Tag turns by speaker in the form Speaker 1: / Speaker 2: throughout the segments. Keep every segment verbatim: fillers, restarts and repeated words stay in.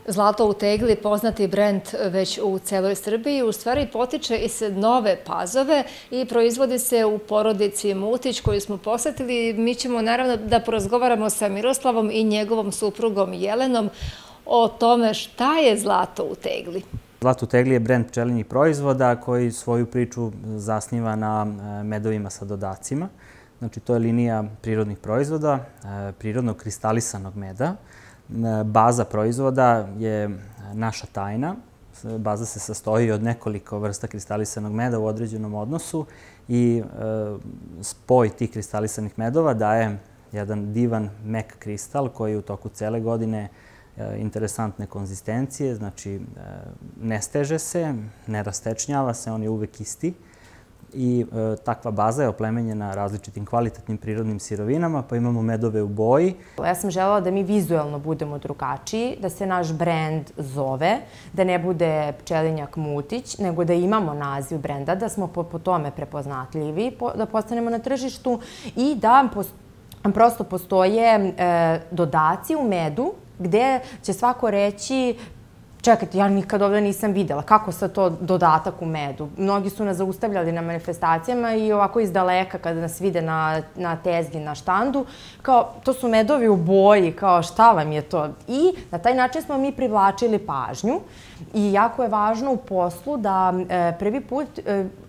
Speaker 1: Zlato u tegli, poznati brend već u celoj Srbiji, u stvari potiče iz Nove Pazove i proizvodi se u porodici Mutić koju smo posetili. Mi ćemo naravno da porazgovaramo sa Miroslavom i njegovom suprugom Jelenom o tome šta je zlato u tegli.
Speaker 2: Zlato u tegli je brend pčelinjih proizvoda koji svoju priču zasniva na medovima sa dodacima. Znači, to je linija prirodnih proizvoda, prirodno kristalisanog meda. Baza proizvoda je naša tajna. Baza se sastoji od nekoliko vrsta kristalisanog meda u određenom odnosu i spoj tih kristalisanih medova daje jedan divan mek kristal koji u toku cele godine interesantne konzistencije, znači ne steže se, ne rastečnjava se, on je uvek isti. I takva baza je oplemenjena različitim kvalitetnim prirodnim sirovinama, pa imamo medove u boji.
Speaker 3: Ja sam želela da mi vizuelno budemo drugačiji, da se naš brend zove, da ne bude Pčelinjak Mutić, nego da imamo naziv brenda, da smo po tome prepoznatljivi, da postanemo na tržištu i da prosto postoje dodaci u medu gde će svako reći: čekajte, ja nikad ovdje nisam videla. Kako sad to dodatak u medu? Mnogi su nas zaustavljali na manifestacijama i ovako iz daleka kada nas vide na tezgi, na štandu, kao to su medovi u boji, kao šta vam je to? I na taj način smo mi privlačili pažnju i jako je važno u poslu da prvi put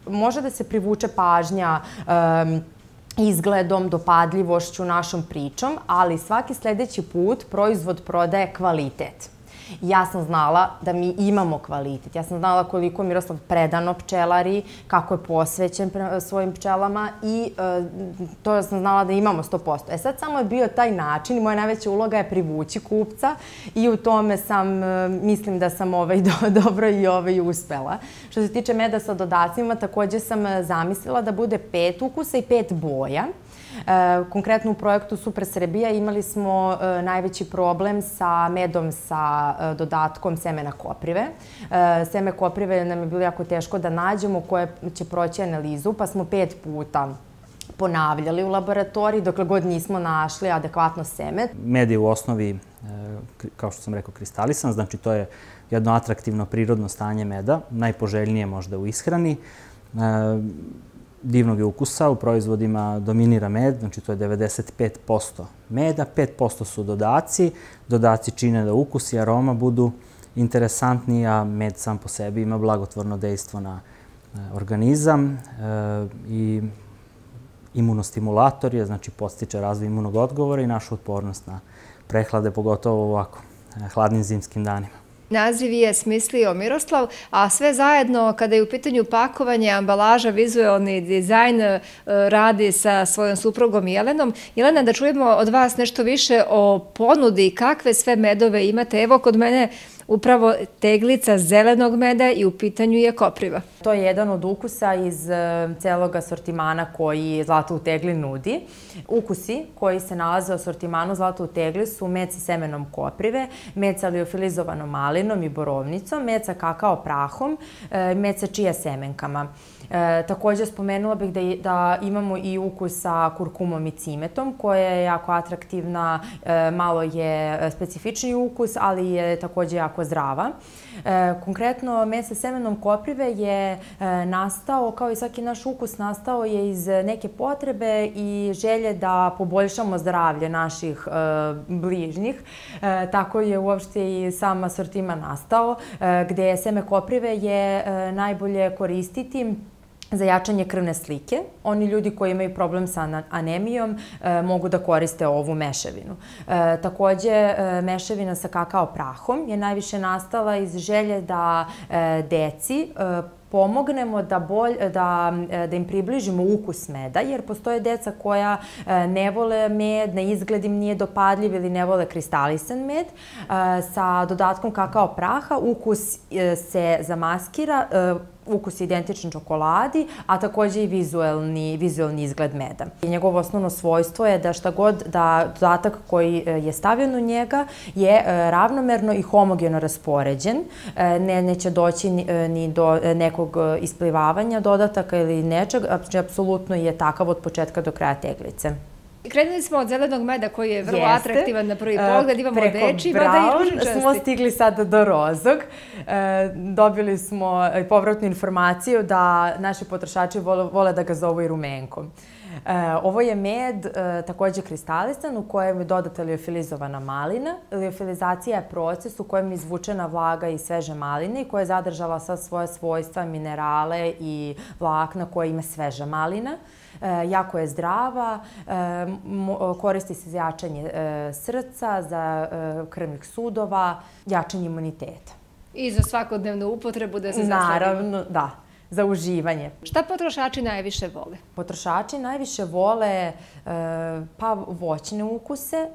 Speaker 3: može da se privuče pažnja izgledom, dopadljivošću, našom pričom, ali svaki sledeći put proizvod prodaje kvalitet. Ja sam znala da mi imamo kvalitet. Ja sam znala koliko Miroslav predano pčelari, kako je posvećen svojim pčelama i to sam znala da imamo sto posto. E sad samo je bio taj način i moja najveća uloga je privući kupca i u tome sam, mislim da sam dobro i uspela. Što se tiče meda sa dodacima, također sam zamislila da bude pet ukusa i pet boja. Konkretno u projektu Super Srbija imali smo najveći problem sa medom sa dodatkom semena koprive. Seme koprive nam je bilo jako teško da nađemo koje će proći analizu, pa smo pet puta ponavljali u laboratoriji dokle god nismo našli adekvatno seme.
Speaker 2: Med je u osnovi, kao što sam rekao, kristalisan, znači to je jedno atraktivno prirodno stanje meda, najpoželjnije možda u ishrani. Divnog je ukusa, u proizvodima dominira med, znači to je devedeset pet posto meda, pet posto su dodaci. Dodaci čine da ukus i aroma budu interesantniji, a med sam po sebi ima blagotvorno dejstvo na organizam i imunostimulator je, znači podstiče razvoj imunog odgovora i našu otpornost na prehlade, pogotovo u ovako hladnim zimskim danima.
Speaker 1: Naziv je smislio Miroslav, a sve zajedno kada je u pitanju pakovanje, ambalaža, vizualni dizajn radi sa svojom suprugom Jelenom. Jelena, da čujemo od vas nešto više o ponudi, kakve sve medove imate. Evo kod mene upravo teglica zelenog meda i u pitanju je kopriva.
Speaker 3: To je jedan od ukusa iz celog asortimana koji Zlato u tegli nudi. Ukusi koji se nalaze u asortimanu Zlato u tegli su med sa semenom koprive, med sa liofilizovanom malinom i borovnicom, med sa kakao prahom, med sa čija semenkama. Također spomenula bih da imamo i ukus sa kurkumom i cimetom koja je jako atraktivna, malo je specifični ukus, ali je također jako zdrava. Konkretno, med sa semenom koprive je nastao, kao i svaki naš ukus, nastao je iz neke potrebe i želje da poboljšamo zdravlje naših bližnjih. Tako je uopšte i sam asortiman nastao, gde seme koprive je najbolje koristiti za jačanje krvne slike. Oni ljudi koji imaju problem sa anemijom mogu da koriste ovu mešavinu. Također, mešavina sa kakao prahom je najviše nastala iz želje da deci pomognemo da im približimo ukus meda, jer postoje deca koja ne vole med, na izgled im nije dopadljiv ili ne vole kristalisan med. Sa dodatkom kakao praha ukus se zamaskira, ukus je identičan čokoladi, a također i vizuelni izgled meda. Njegovo osnovno svojstvo je da šta god, da dodatak koji je stavljen u njega je ravnomerno i homogeno raspoređen. Neće doći ni do nekog isplivavanja dodataka ili nečeg, apsolutno je takav od početka do kraja teglice.
Speaker 1: Krenuli smo od zelenog meda koji je vrlo atraktivan na prvi pogled, imamo deči,
Speaker 3: mada
Speaker 1: i ružičasti.
Speaker 3: Smo stigli sada do rozog. Dobili smo povratnu informaciju da naši potrošači vole da ga zovu i rumenkom. Ovo je med takođe kristalisan u kojem je dodata liofilizovana malina. Liofilizacija je proces u kojem je izvučena vlaga iz sveže maline i koja je zadržala sva svoje svojstva, minerale i vlakna koje ima sveža malina. Jako je zdrava, koristi se za jačanje srca, za krvnih sudova, jačanje imuniteta.
Speaker 1: I za svakodnevnu upotrebu da se zasladimo.
Speaker 3: Naravno, da. Za uživanje.
Speaker 1: Šta potrošači najviše vole?
Speaker 3: Potrošači najviše vole pa voćne ukuse.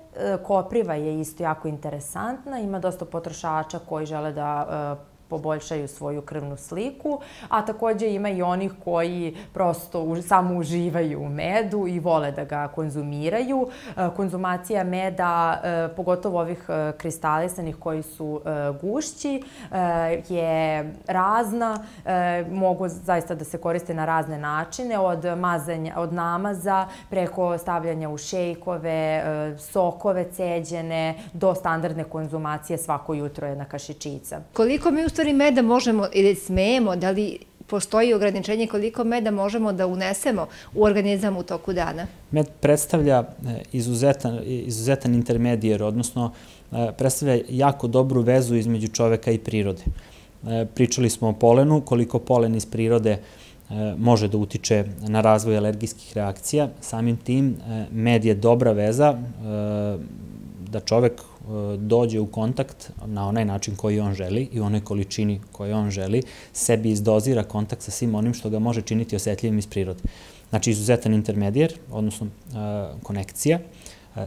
Speaker 3: Kopriva je isto jako interesantna. Ima dosta potrošača koji žele da poboljšaju svoju krvnu sliku, a takođe ima i onih koji prosto samo uživaju u medu i vole da ga konzumiraju. Konzumacija meda, pogotovo ovih kristalisanih koji su gušći, je razna. Mogu zaista da se koriste na razne načine, od mazanja, od namaza, preko stavljanja u šejkove, sokove ceđene, do standardne konzumacije svako jutro jedna kašičica.
Speaker 1: Koliko mi u stvari meda možemo ili smemo, da li postoji ograničenje koliko meda možemo da unesemo u organizam u toku dana?
Speaker 2: Med predstavlja izuzetan, izuzetan intermedijer, odnosno predstavlja jako dobru vezu između čoveka i prirode. Pričali smo o polenu, koliko polen iz prirode može da utiče na razvoj alergijskih reakcija. Samim tim, med je dobra veza da čovek dođe u kontakt na onaj način koji on želi i u onoj količini koju on želi, sebi izdozira kontakt sa svim onim što ga može činiti osetljivim iz prirode. Znači, izuzetan intermedijer, odnosno konekcija,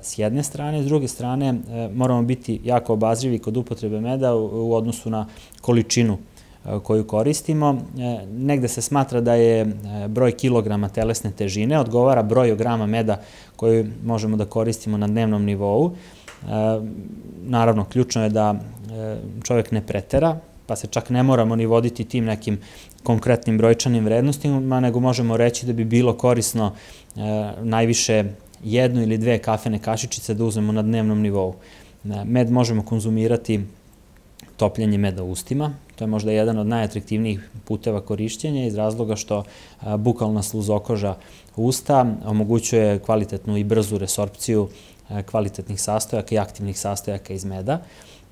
Speaker 2: s jedne strane. S druge strane, moramo biti jako obazrivi kod upotrebe meda u odnosu na količinu koju koristimo. Negde se smatra da je broj kilograma telesne težine odgovara broju grama meda koju možemo da koristimo na dnevnom nivou. Naravno, ključno je da čovjek ne pretera, pa se čak ne moramo ni voditi tim nekim konkretnim brojčanim vrednostima, nego možemo reći da bi bilo korisno najviše jednu ili dve kafene kašičice da uzmemo na dnevnom nivou. Med možemo konzumirati topljenje meda u ustima. To je možda jedan od najatraktivnijih puteva korišćenja iz razloga što bukalna sluzokoža usta omogućuje kvalitetnu i brzu resorpciju kvalitetnih sastojaka i aktivnih sastojaka iz meda.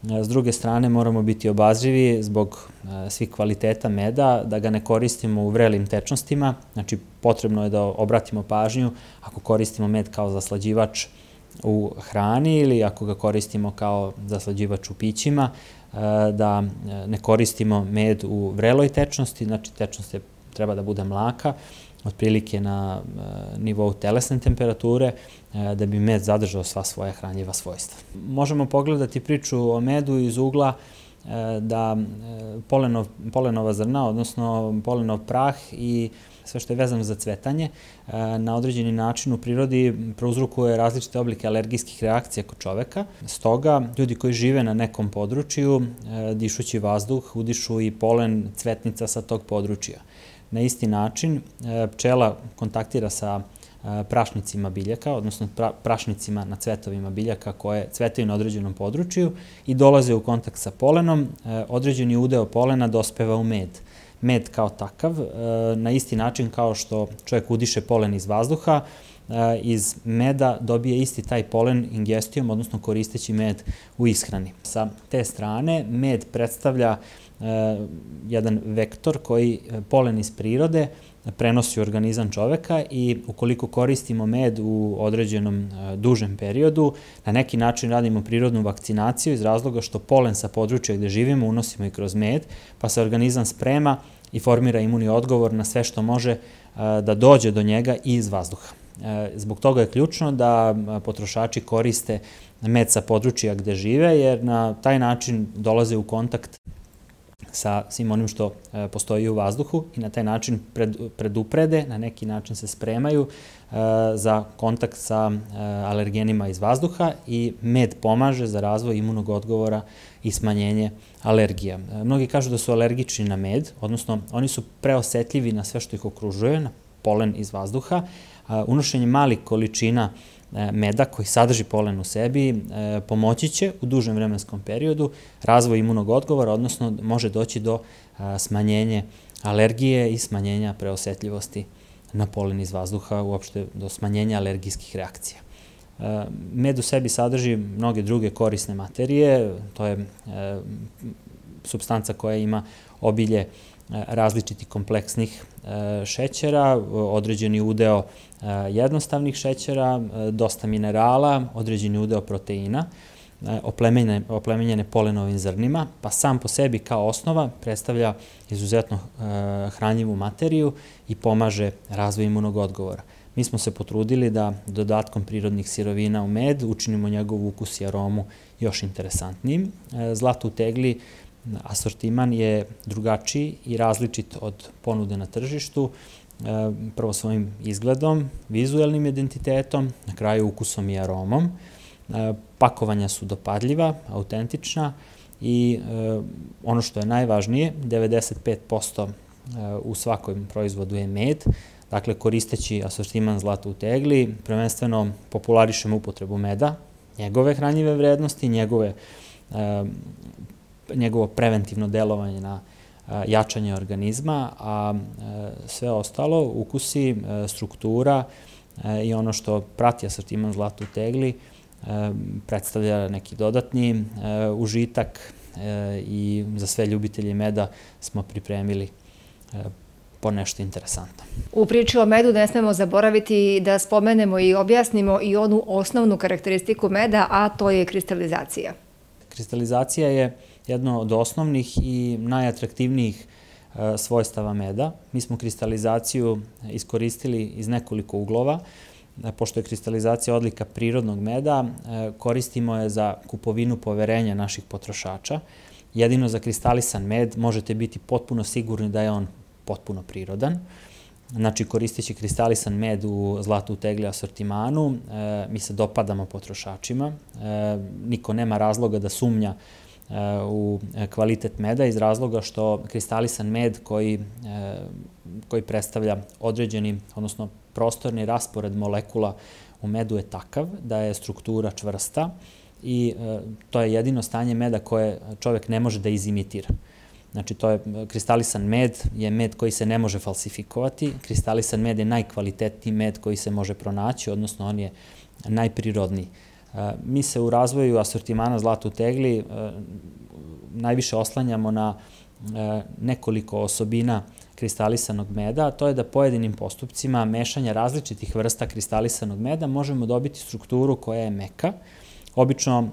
Speaker 2: S druge strane, moramo biti obazrivi zbog svih kvaliteta meda, da ga ne koristimo u vrelim tečnostima. Znači, potrebno je da obratimo pažnju ako koristimo med kao zaslađivač u hrani ili ako ga koristimo kao zaslađivač u pićima, da ne koristimo med u vreloj tečnosti, znači tečnost treba da bude mlaka, otprilike na nivou telesne temperature, da bi med zadržao sva svoja hranljiva svojstva. Možemo pogledati priču o medu iz ugla da polenova zrna, odnosno polenov prah i sve što je vezano za cvetanje, na određeni način u prirodi prouzrokuje različite oblike alergijskih reakcija kod čoveka. Stoga, ljudi koji žive na nekom području, dišući vazduh, udišu i polen cvetnica sa tog područja. Na isti način, pčela kontaktira sa prašnicima biljaka, odnosno prašnicima na cvetovima biljaka koje cvetaju na određenom području i dolaze u kontakt sa polenom. Određeni udeo polena dospeva u med. Med kao takav, na isti način kao što čovjek udiše polen iz vazduha, iz meda dobije isti taj polen ingestijom, odnosno koristeći med u ishrani. Sa te strane, med predstavlja jedan vektor koji polen iz prirode prenosi u organizam čoveka i ukoliko koristimo med u određenom dužem periodu, na neki način radimo prirodnu vakcinaciju iz razloga što polen sa područja gde živimo unosimo i kroz med, pa se organizam sprema i formira imunni odgovor na sve što može da dođe do njega i iz vazduha. Zbog toga je ključno da potrošači koriste med sa područja gde žive, jer na taj način dolaze u kontakt sa svim onim što postoji u vazduhu i na taj način preduprede, na neki način se spremaju za kontakt sa alergenima iz vazduha i med pomaže za razvoj imunog odgovora i smanjenje alergija. Mnogi kažu da su alergični na med, odnosno oni su preosetljivi na sve što ih okružuje, polen iz vazduha. Unošenje malih količina meda koji sadrži polen u sebi pomoći će u dužem vremenskom periodu razvoj imunog odgovora, odnosno može doći do smanjenja alergije i smanjenja preosetljivosti na polen iz vazduha, uopšte do smanjenja alergijskih reakcija. Med u sebi sadrži mnoge druge korisne materije, to je supstanca koja ima obilje različitih kompleksnih šećera, određeni udeo jednostavnih šećera, dosta minerala, određeni udeo proteina, oplemenjene polenovim zrnima, pa sam po sebi kao osnova predstavlja izuzetno hranljivu materiju i pomaže razvoj imunog odgovora. Mi smo se potrudili da dodatkom prirodnih sirovina u med učinimo njegov ukus i aromu još interesantnijim. Zlato u tegli asortiman je drugačiji i različit od ponude na tržištu, prvo svojim izgledom, vizuelnim identitetom, na kraju ukusom i aromom. Pakovanja su dopadljiva, autentična i ono što je najvažnije, devedeset pet posto u svakom proizvodu je med. Dakle, koristeći asortiman zlata u tegli, prvenstveno popularišemo upotrebu meda, njegove hranjive vrednosti, njegove njegovo preventivno delovanje na jačanje organizma, a sve ostalo, ukusi, struktura i ono što prati asortiman zlata u tegli, predstavlja neki dodatni užitak i za sve ljubitelje meda smo pripremili po nešto interesantno.
Speaker 1: U priči o medu ne smemo zaboraviti da spomenemo i objasnimo i onu osnovnu karakteristiku meda, a to je kristalizacija.
Speaker 2: Kristalizacija je jedno od osnovnih i najatraktivnijih svojstava meda. Mi smo kristalizaciju iskoristili iz nekoliko uglova. Pošto je kristalizacija odlika prirodnog meda, koristimo je za kupovinu poverenja naših potrošača. Jedino za kristalisan med možete biti potpuno sigurni da je on potpuno prirodan. Znači, koristeći kristalisan med u zlatu u tegli asortimanu, mi se dopadamo potrošačima. Niko nema razloga da sumnja u kvalitet meda iz razloga što kristalisan med koji, koji predstavlja određeni, odnosno prostorni raspored molekula u medu je takav da je struktura čvrsta i to je jedino stanje meda koje čovek ne može da izimitira. Znači, to je kristalisan med, je med koji se ne može falsifikovati. Kristalisan med je najkvalitetniji med koji se može pronaći, odnosno on je najprirodniji. Mi se u razvoju asortimana zlata u tegli najviše oslanjamo na nekoliko osobina kristalisanog meda, a to je da pojedinim postupcima mešanja različitih vrsta kristalisanog meda možemo dobiti strukturu koja je meka. Obično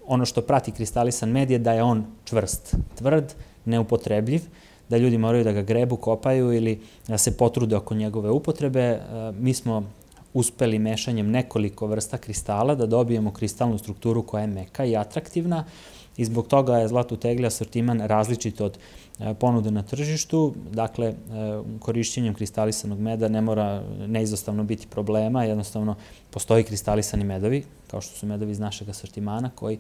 Speaker 2: ono što prati kristalisan med je da je on čvrst, tvrd, neupotrebljiv, da ljudi moraju da ga grebu, kopaju ili da se potrude oko njegove upotrebe. Mi smo uspeli mešanjem nekoliko vrsta kristala da dobijemo kristalnu strukturu koja je meka i atraktivna i zbog toga je zlato u tegli asortiman različit od ponude na tržištu. Dakle, korišćenjem kristalisanog meda ne mora neizostavno biti problema, jednostavno postoji kristalisani medovi, kao što su medovi iz našeg asortimana, koji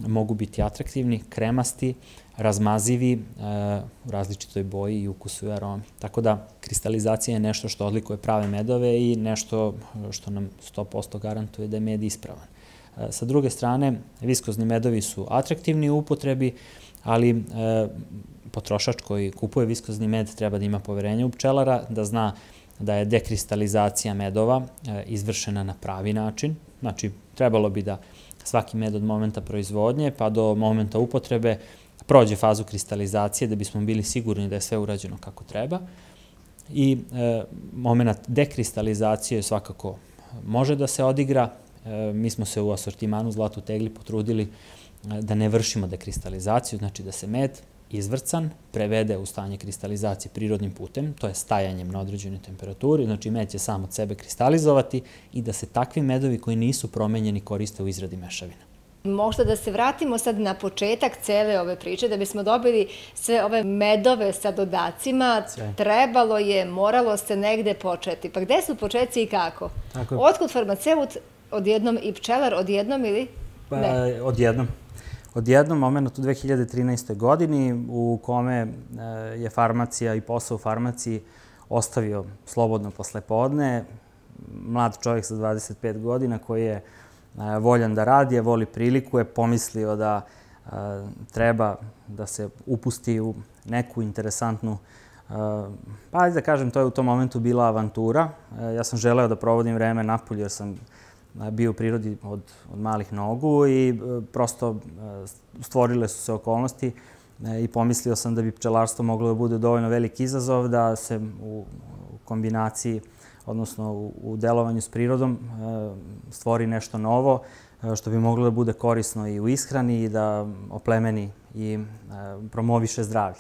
Speaker 2: mogu biti atraktivni, kremasti, razmazivi, u različitoj boji i ukusu i aromi. Tako da, kristalizacija je nešto što odlikuje prave medove i nešto što nam sto posto garantuje da je med ispravan. Sa druge strane, viskozni medovi su atraktivni u upotrebi, ali potrošač koji kupuje viskozni med treba da ima poverenje u pčelara, da zna da je dekristalizacija medova izvršena na pravi način. Znači, trebalo bi da svaki med od momenta proizvodnje pa do momenta upotrebe prođe fazu kristalizacije da bismo bili sigurni da je sve urađeno kako treba. I moment dekristalizacije svakako može da se odigra. Mi smo se u asortimanu zlata u tegli potrudili da ne vršimo dekristalizaciju, znači da se med izvrcan prevede u stanje kristalizacije prirodnim putem, to je stajanjem na određenoj temperaturi, znači med će sam od sebe kristalizovati i da se takvi medovi koji nisu promenjeni koriste u izradi mešavina.
Speaker 1: Možda da se vratimo sad na početak cele ove priče, da bismo dobili sve ove medove sa dodacima, trebalo je, moralo se negde početi. Pa gde su početci i kako? Otkud farmaceut odjednom i pčelar odjednom ili ne?
Speaker 2: Odjednom. Odjednom moment u dve hiljade trinaestoj godini u kome je farmacija i posao u farmaciji ostavio slobodno posle podne. Mlad čovjek sa dvadeset pet godina koji je voljan da radi, a voli priliku, je pomislio da treba da se upusti u neku interesantnu, pa ajde da kažem, to je u tom momentu bila avantura. Ja sam želeo da provodim vreme napolju jer sam bio u prirodi od, od malih nogu i prosto stvorile su se okolnosti i pomislio sam da bi pčelarstvo moglo da bude dovoljno veliki izazov, da se u kombinaciji, odnosno u delovanju s prirodom, stvori nešto novo što bi moglo da bude korisno i u ishrani i da oplemeni i promoviše zdravlje.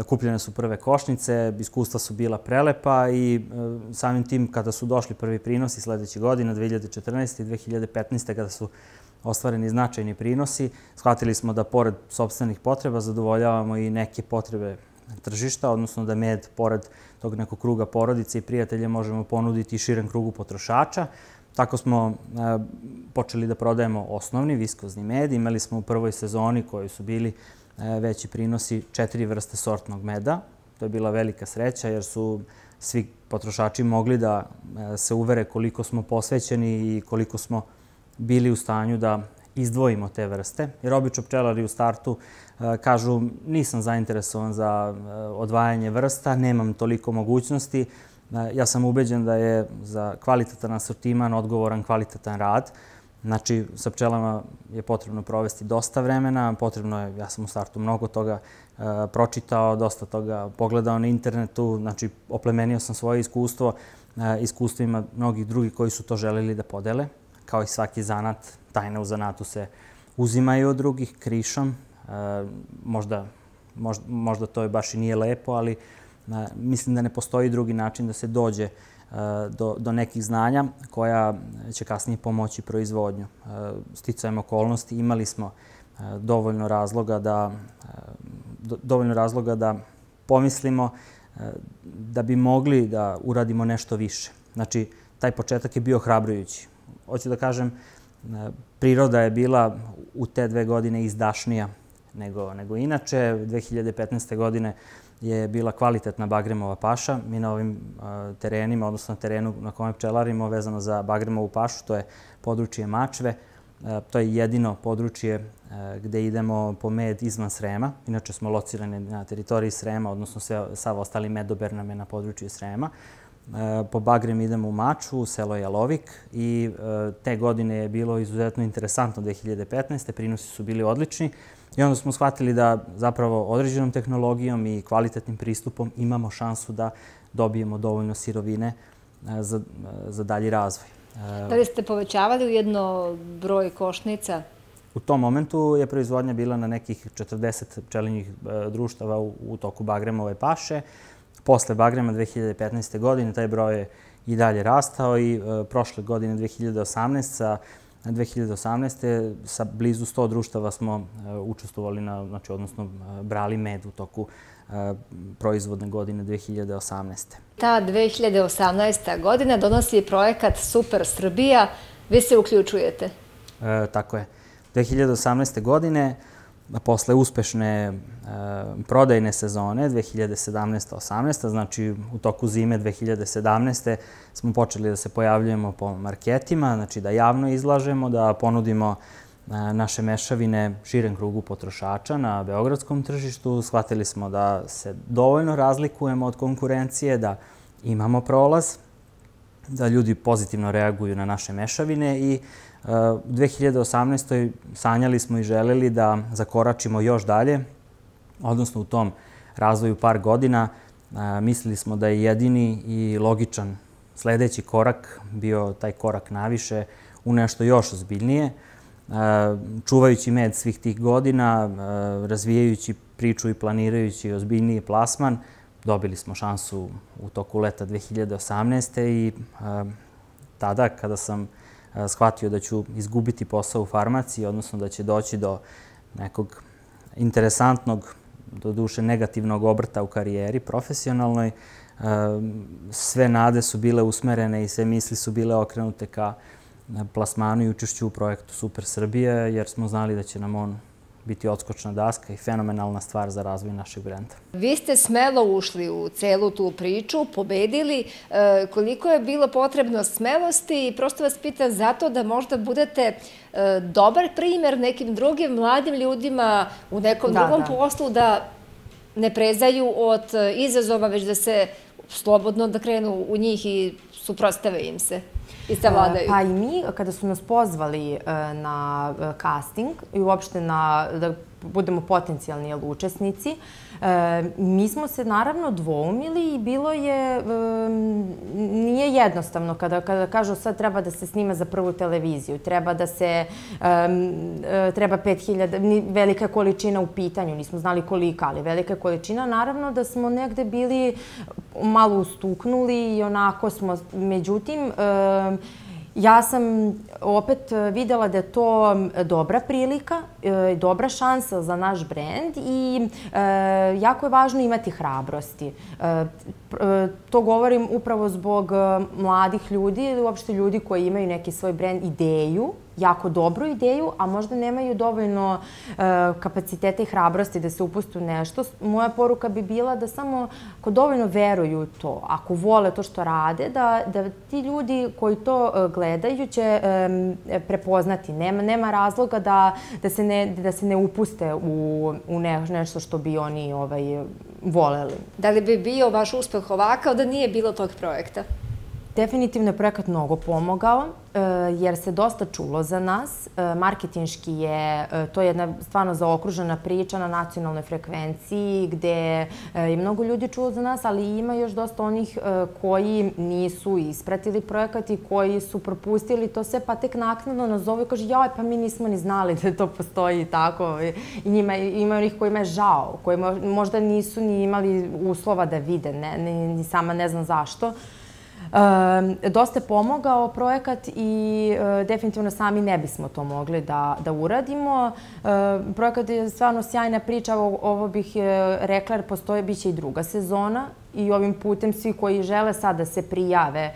Speaker 2: Kupljene su prve košnice, iskustva su bila prelepa i samim tim kada su došli prvi prinosi sledeće godine, dve hiljade četrnaeste. i dve hiljade petnaeste. kada su ostvareni značajni prinosi, shvatili smo da pored sopstvenih potreba zadovoljavamo i neke potrebe tržišta, odnosno da med, pored tog nekog kruga porodice i prijatelja, možemo ponuditi i širen krugu potrošača. Tako smo počeli da prodajemo osnovni viskozni med. Imali smo u prvoj sezoni koji su bili veći prinosi četiri vrste sortnog meda. To je bila velika sreća jer su svi potrošači mogli da se uvere koliko smo posvećeni i koliko smo bili u stanju da izdvojimo te vrste. Jer obično pčelari u startu kažu nisam zainteresovan za odvajanje vrsta, nemam toliko mogućnosti. Ja sam ubeđen da je za kvalitetan asortiman odgovoran kvalitetan rad. Znači, sa pčelama je potrebno provesti dosta vremena, potrebno je, ja sam u startu mnogo toga pročitao, dosta toga pogledao na internetu, znači oplemenio sam svoje iskustvo iskustvima mnogih drugih koji su to želeli da podele. Kao i svaki zanat, tajne u zanatu se uzimaju od drugih krišom. Možda, možda, možda to baš i nije lepo, ali mislim da ne postoji drugi način da se dođe do, do nekih znanja koja će kasnije pomoći proizvodnju. Sticajem okolnosti imali smo dovoljno razloga da, dovoljno razloga da pomislimo da bi mogli da uradimo nešto više. Znači, taj početak je bio hrabrujući. Hoću da kažem, priroda je bila u te dve godine izdašnija nego, nego inače. dve hiljade petnaeste. godine je bila kvalitetna bagremova paša. Mi na ovim terenima, odnosno na terenu na kome pčelarimo vezano za bagremovu pašu, to je područje Mačve. To je jedino područje gde idemo po med izvan Srema. Inače smo locirani na teritoriji Srema, odnosno sav ostali medober nam je na području Srema. Po bagrem idemo u Mačvu, selo Jalovik i te godine je bilo izuzetno interesantno dve hiljade petnaeste. Prinosi su bili odlični i onda smo shvatili da zapravo određenom tehnologijom i kvalitetnim pristupom imamo šansu da dobijemo dovoljno sirovine za, za dalji razvoj.
Speaker 1: Da li ste povećavali ujedno broj košnica?
Speaker 2: U tom momentu je proizvodnja bila na nekih četrdeset pčelinjih društava u, u toku bagremove paše. Posle bagrema dve hiljade petnaeste. godine taj broj je i dalje rastao i e, prošle godine dve hiljade osamnaeste. sa dve hiljade osamnaeste. sa blizu sto društava smo e, učestvovali, na, znači, odnosno e, brali med u toku e, proizvodne godine dve hiljade osamnaeste.
Speaker 1: Ta dve hiljade osamnaesta. godina donosi projekat Super Srbija. Vi se uključujete?
Speaker 2: E, tako je. dve hiljade osamnaeste. godine, posle uspešne e, prodajne sezone dve hiljade sedamnaeste. osamnaeste. znači u toku zime dve hiljade sedamnaeste. smo počeli da se pojavljujemo po marketima, znači da javno izlažemo, da ponudimo e, naše mešavine širen krugu potrošača na beogradskom tržištu. Shvatili smo da se dovoljno razlikujemo od konkurencije, da imamo prolaz, da ljudi pozitivno reaguju na naše mešavine i u dve hiljade osamnaestoj. sanjali smo i želeli da zakoračimo još dalje, odnosno u tom razvoju par godina mislili smo da je jedini i logičan sledeći korak bio taj korak naviše u nešto još ozbiljnije. Čuvajući med svih tih godina, razvijajući priču i planirajući ozbiljniji plasman, dobili smo šansu u toku leta dve hiljade osamnaeste. i tada kada sam shvatio da ću izgubiti posao u farmaciji, odnosno da će doći do nekog interesantnog, do duše negativnog obrta u karijeri profesionalnoj. Sve nade su bile usmerene i sve misli su bile okrenute ka plasmanu i učešću u projektu Super Srbija, jer smo znali da će nam on biti odskočna daska i fenomenalna stvar za razvoj našeg brenda.
Speaker 1: Vi ste smelo ušli u celu tu priču, pobedili. Koliko je bilo potrebno smelosti i prosto vas pitam zato da možda budete dobar primjer nekim drugim mladim ljudima u nekom drugom poslu da ne prezaju od izazova, već da se slobodno da krenu u njih i suprotstave im se i savladaju.
Speaker 3: Pa i mi, kada su nas pozvali na casting i uopšte da budemo potencijalni učesnici, mi smo se naravno dvoumili i bilo je, nije jednostavno kada kažu sad treba da se snima za prvu televiziju, treba da se, treba pet hiljada, velika količina u pitanju, nismo znali kolika, ali velika količina, naravno da smo negde bili malo ustuknuli i onako smo, međutim, ja sam opet videla da je to dobra prilika, dobra šansa za naš brend i jako je važno imati hrabrosti. To govorim upravo zbog mladih ljudi ili uopšte ljudi koji imaju neki svoj brend, ideju, jako dobru ideju, a možda nemaju dovoljno kapaciteta i hrabrosti da se upuste u nešto. Moja poruka bi bila da samo ako dovoljno veruju u to, ako vole to što rade, da ti ljudi koji to gledaju će prepoznati. Nema razloga da se ne upuste u nešto što bi oni voleli.
Speaker 1: Da li bi bio vaš uspeh ovakav da nije bilo tog projekta?
Speaker 3: Definitivno je projekat mnogo pomogao, jer se dosta čulo za nas. Marketinški je, to je jedna stvarno zaokružena priča na nacionalnoj frekvenciji gde je mnogo ljudi čulo za nas, ali ima još dosta onih koji nisu ispratili projekat i koji su propustili to sve, pa tek naknadno nas zovu i kaže joj, pa mi nismo ni znali da to postoji i tako. I ima onih kojima je žao, koji možda nisu ni imali uslova da vide, ni sama ne znam zašto. Dosta je pomogao projekat i definitivno sami ne bismo to mogli da uradimo. Projekat je stvarno sjajna priča, ovo bih rekla jer postoje, bit će i druga sezona i ovim putem svi koji žele sad da se prijave.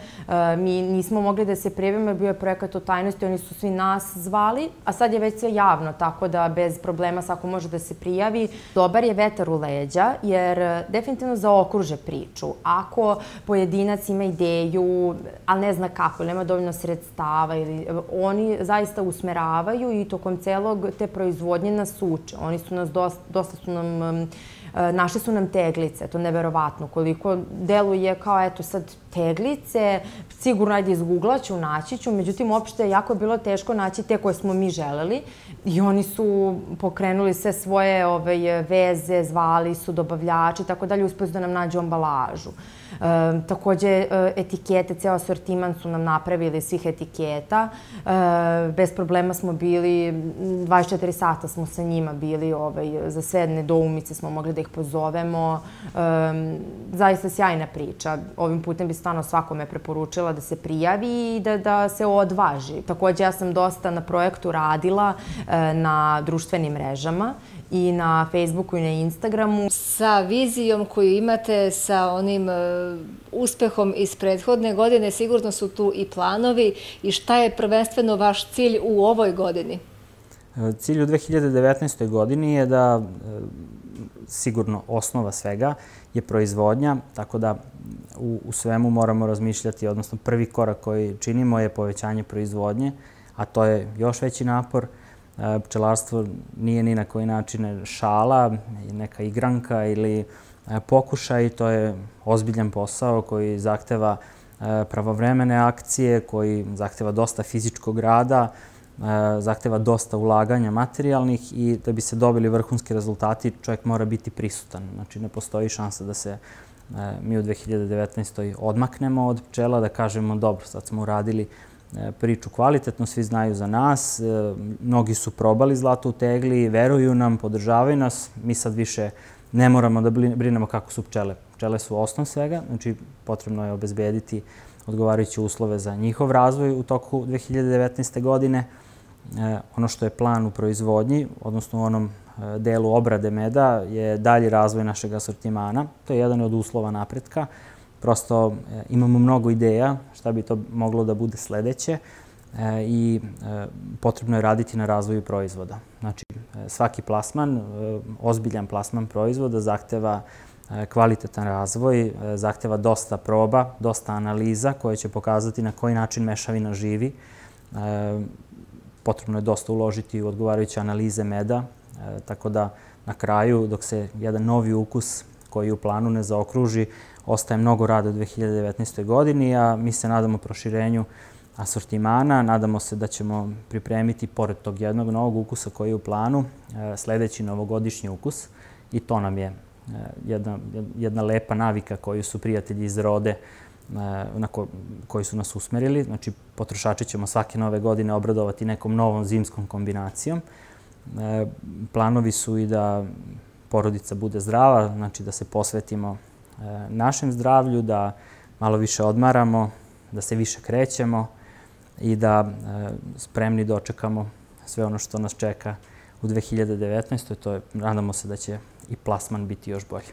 Speaker 3: Mi nismo mogli da se prijavimo jer bio je projekat o tajnosti, oni su svi nas zvali, a sad je već sve javno, tako da bez problema svako može da se prijavi. Dobar je vetar u leđa jer definitivno zaokruže priču. Ako pojedinac ima ideju, ali ne zna kako, nema dovoljno sredstava, oni zaista usmeravaju i tokom celog te proizvodnje nas uče. Oni su nas, dosta su nam, našli su nam teglice, to je neverovatno. Koliko deluje kao, eto sad, teglice, sigurno ajde izgooglaću, naći ću, međutim, uopšte jako je bilo teško naći te koje smo mi želeli i oni su pokrenuli sve svoje veze, zvali su dobavljači, tako dalje, uspeli su da nam nađu ambalažu. Takođe, etikete, ceo asortiman su nam napravili svih etiketa. Bez problema smo bili, dvadeset četiri sata smo sa njima bili, za sve nedoumice smo mogli da ih pozovemo. Zaista sjajna priča. Ovim putem bi stvarno svakome preporučila da se prijavi i da se odvaži. Takođe, ja sam dosta na projektu radila na društvenim mrežama i na Facebooku i na Instagramu.
Speaker 1: Sa vizijom koju imate, sa onim uspehom iz prethodne godine, sigurno su tu i planovi. I šta je prvenstveno vaš cilj u ovoj godini?
Speaker 2: Cilj u dve hiljade devetnaestoj godini je da, sigurno osnova svega, je proizvodnja, tako da u svemu moramo razmišljati, odnosno prvi korak koji činimo je povećanje proizvodnje, a to je još veći napor. Pčelarstvo nije ni na koji način šala, neka igranka ili pokušaj. To je ozbiljan posao koji zahteva pravovremene akcije, koji zahteva dosta fizičkog rada, zahteva dosta ulaganja materijalnih i da bi se dobili vrhunski rezultati čovjek mora biti prisutan. Znači ne postoji šansa da se mi u dve hiljade devetnaestoj odmaknemo od pčela, da kažemo dobro, sad smo uradili priču kvalitetno, svi znaju za nas, mnogi su probali zlato u tegli, veruju nam, podržavaju nas, mi sad više ne moramo da brinemo kako su pčele. Pčele su osnov svega, znači potrebno je obezbediti odgovarajuće uslove za njihov razvoj u toku dve hiljade devetnaeste. godine. Ono što je plan u proizvodnji, odnosno u onom delu obrade meda, je dalji razvoj našeg asortimana. To je jedan od uslova napretka. Prosto imamo mnogo ideja šta bi to moglo da bude sledeće. i potrebno je raditi na razvoju proizvoda. Znači, svaki plasman, ozbiljan plasman proizvoda zahteva kvalitetan razvoj, zahteva dosta proba, dosta analiza koje će pokazati na koji način mešavina živi. Potrebno je dosta uložiti u odgovarajuće analize meda, tako da na kraju, dok se jedan novi ukus koji u planu ne zaokruži, ostaje mnogo rada u dve hiljade devetnaestoj godini, a mi se nadamo proširenju asortimana. Nadamo se da ćemo pripremiti, pored tog jednog novog ukusa koji je u planu, sledeći novogodišnji ukus. I to nam je jedna, jedna lepa navika koju su prijatelji iz Rode na ko, koji su nas usmerili. Znači, potrošači ćemo svake nove godine obradovati nekom novom zimskom kombinacijom. Planovi su i da porodica bude zdrava, znači da se posvetimo našem zdravlju, da malo više odmaramo, da se više krećemo i da spremni dočekamo sve ono što nas čeka u dve hiljade devetnaestoj. To je, nadamo se da će i plasman biti još bolji.